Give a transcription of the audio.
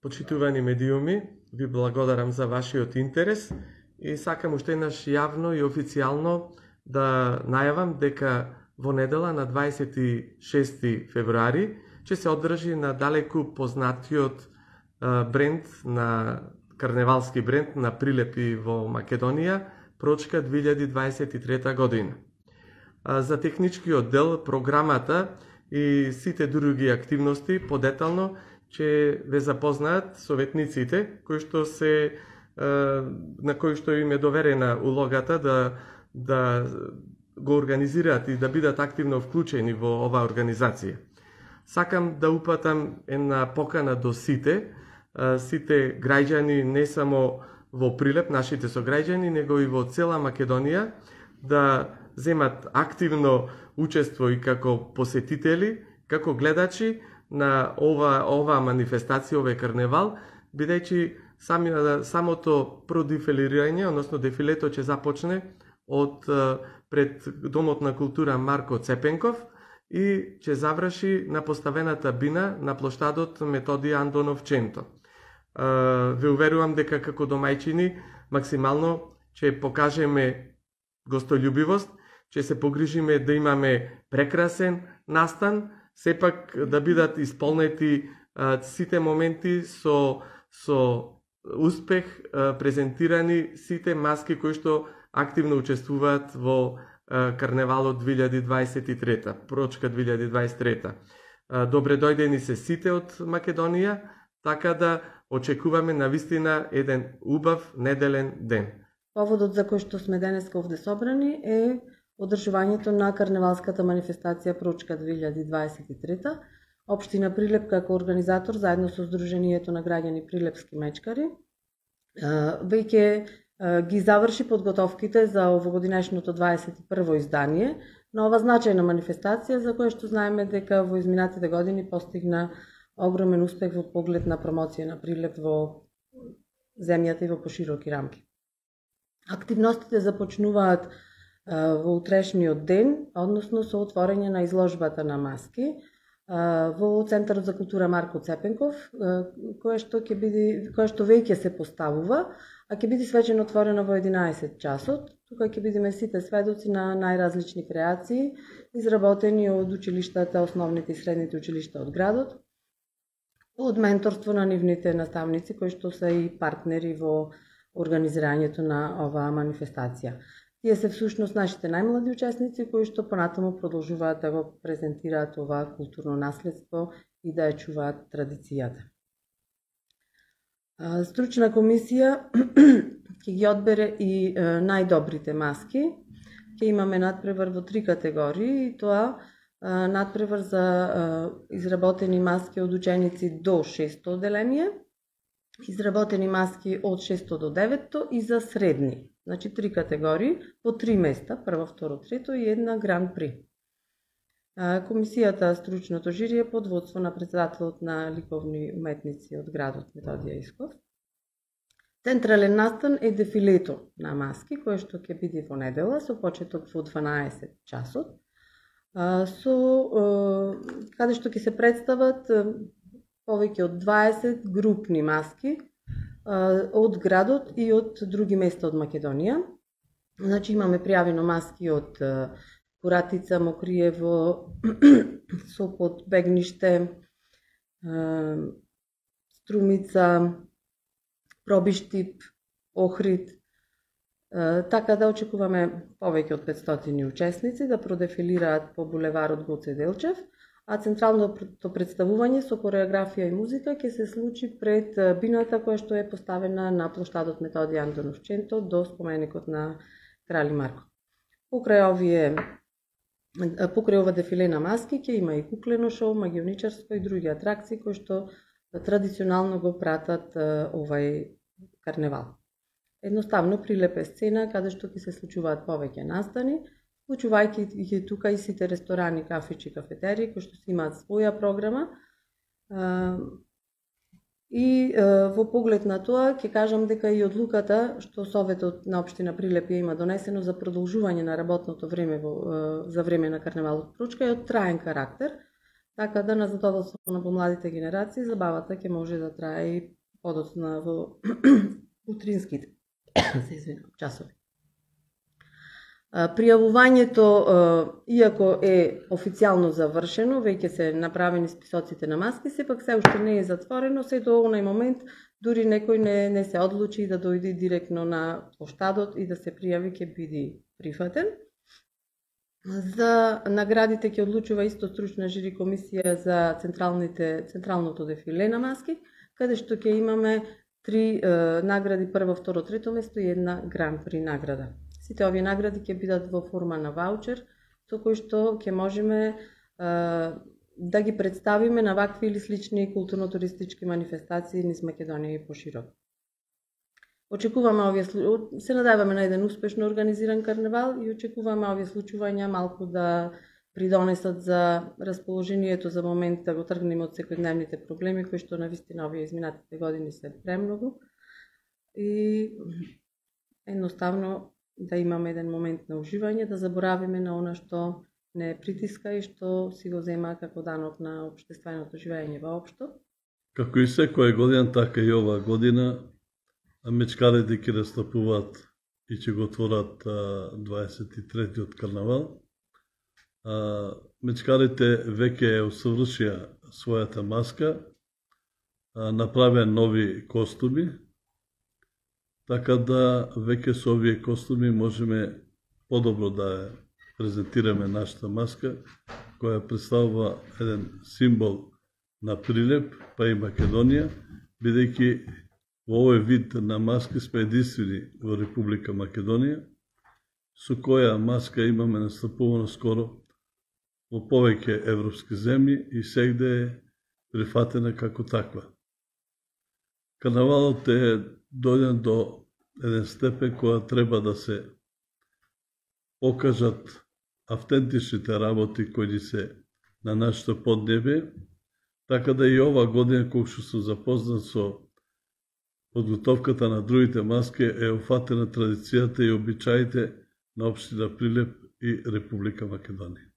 Почитувани медиуми, ви благодарам за вашиот интерес и сакам уште еднаш јавно и официјално да најавам дека во недела на 26 февруари ќе се одржи на далеку познатиот бренд на карневалски бренд на прилепи во Македонија, Прочка 2023 година. За техничкиот дел, програмата и сите други активности подетално ќе ве запознаат советниците на кои што им е доверена улогата да го организираат и да бидат активно вклучени во оваа организација. Сакам да упатам една покана до сите граѓани, не само во Прилеп, нашите сограѓани, него и во цела Македонија, да земат активно учество и како посетители, како гледачи на ова манифестација, овој карневал, бидејќи самото продефилирање, односно дефилето ќе започне пред Домот на култура Марко Цепенков и ќе заврши на поставената бина на плоштадот Методија Андонов Ченто. Ве уверувам дека како домајчини максимално ќе покажеме гостољубивост, ќе се погрижиме да имаме прекрасен настан, сепак да бидат исполнети сите моменти со успех, презентирани сите маски кои што активно учествуваат во карневалот 2023, Прочка 2023. Добре дојдени се сите од Македонија, така да очекуваме навистина еден убав неделен ден. Поводот за кој што сме денеска овде собрани е одржувањето на карневалската манифестација Прочка 2023. Општина Прилеп како организатор заедно со Сдруженијето на граѓани Прилепски мечкари веќе ги заврши подготовките за овогодинешното 21-во издание на ова значајна манифестација за која што знаеме дека во изминатите години постигна огромен успех во поглед на промоција на Прилеп во земјата и во пошироки рамки. Активностите започнуваат во утрешниот ден, односно со отворање на изложбата на маски во Центарот за култура Марко Цепенков, која што веќе се поставува, а ќе биде свечено отворено во 11 часот. Тука ќе бидеме сите сведоци на најразлични креации, изработени од училиштата, основните и средните училишта од градот, од менторство на нивните наставници, кои што се и партнери во организирањето на оваа манифестација. Тие се всушност нашите најмлади учесници кои што понатаму продолжуваат да го презентираат ова културно наследство и да ја чуваат традицијата. Стручна комисија ќе ги одбере и најдобрите маски. Ќе имаме надпревар во 3 категории и тоа надпревар за изработени маски од ученици до 6-то оделение, изработени маски од 6-то до 9-то и за средни. Значи 3 категории, по 3 места, прво, второ, трето и една гран при. Комисијата, стручното жири е под водство на председателот на ликовни уметници од градот Методија Исков. Централен настан е дефилето на маски, кое што ќе биде во недела, со почеток во 12 часот, каде што ќе се представат повеќе од 20 групни маски од градот и од други места од Македонија. Значи имаме пријавено маски од Куратица, Мокриево, Сопот, Бегниште, Струмица, Пробиштип, Охрид. Така да очекуваме повеќе од 500 учесници да продефилираат по булеварот Гоце Делчев, а централното представување со кореографија и музика ќе се случи пред бината која што е поставена на плоштадот Методија Андонов Ченто до споменикот на Крали Марко. Покрај ова дефиле на маски ќе има и куклено шоу, магионичарство и други атракции кои што традиционално го пратат овај карневал. Едноставно Прилеп е сцена каде што ќе се случуваат повеќе настани, вклучувајќи ги тука и сите ресторани, кафичи, кафетерии кои што си имаат своја програма. И во поглед на тоа ќе кажам дека и одлуката што Советот на општина Прилеп има донесено за продолжување на работното време за време на карневалот Прочка е од траен карактер, така да на задоволство на помладите генерации забавата ќе може да трае и подоцна во утринските часови. Пријавувањето, иако е официјално завршено, веќе се направени списоците на маски, сепак се уште не е затворено, се до онај момент дури некој не се одлучи да дојде директно на поштадот и да се пријави, ќе биде прифатен. За наградите ќе одлучува исто стручна жири комисија за централното дефиле на маски, каде што ќе имаме 3 награди, прво, второ, трето место и една гран при награда. Сите овие награди ќе бидат во форма на ваучер, со кој што ќе можеме да ги представиме на вакви или слични културно-туристички манифестации низ Македонија и пошироко. Очекуваме се надеваме на еден успешно организиран карневал и очекуваме овие случувања малку да придонесат за расположението за момент да го тргнеме од секојдневните проблеми кои што навистина овие изминатите години се премногу и едноставно да имаме еден момент на уживање, да заборавиме на она што не притиска и што си го зема како данок на општественото живење воопшто. Како и секоја година, така и оваа година мечкарите ќе настапуваат и ќе го отворат 23-тиот карнавал. Мечкарите веќе усовршија својата маска, направија нови костуми, така да веќе со овие костуми можеме подобро да презентираме нашата маска, која представува еден символ на Прилеп, па и Македонија, бидејќи во овој вид на маски сме единствени во Република Македонија, со која маска имаме настапувано скоро во повеќе европски земји и сегде е прифатена како таква. Карнавалот е дојден до еден степен која треба да се покажат автентичните работи кои се на нашето поднебе, така да и ова година, кога што сум запознат со подготовката на другите маски, е уфатена традицијата и обичаите на општина Прилеп и Република Македонија.